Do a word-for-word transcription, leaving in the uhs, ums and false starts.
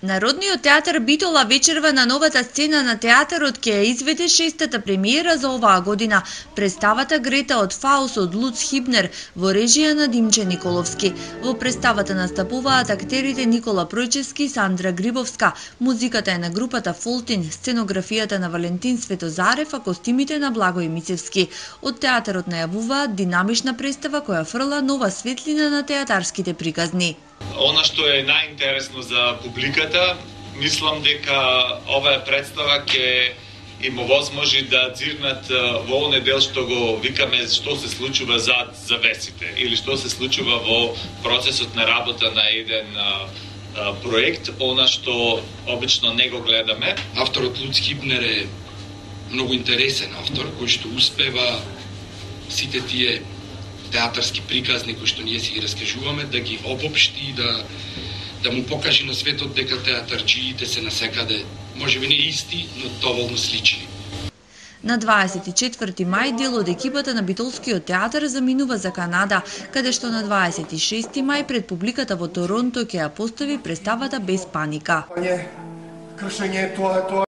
Народниот театар Битола вечерва на новата сцена на театарот ќе ја изведе шестата премиера за оваа година, представата Грета од Фаус од Луц Хибнер во режија на Димче Николовски. Во представата настапуваат актерите Никола Пројчевски и Сандра Грибовска, музиката е на групата Фолтин, сценографијата на Валентин Светозарев, а костимите на Благој Мицевски. Од театарот најавуваат динамична представа која фрла нова светлина на театарските приказни. Она што е најинтересно за публиката, мислам дека оваа представа ќе им овозможи да дзирнат во оне дел што го викаме што се случува зад завесите или што се случува во процесот на работа на еден а, а, проект, она што обично не го гледаме. Авторот Луц Хибнер е многу интересен автор кој што успева сите тие театарски приказни кои што ние си ги раскажуваме да ги обобшти и да да му покаже на светот дека театарџиите се насекаде, можеби не исти, но доволно слични. На дваесет и четврти мај дел од екипата на Битолскиот театар заминува за Канада, каде што на дваесет и шести мај пред публиката во Торонто ќе ја постави представата Без паника. Кршење, тоа е тоа.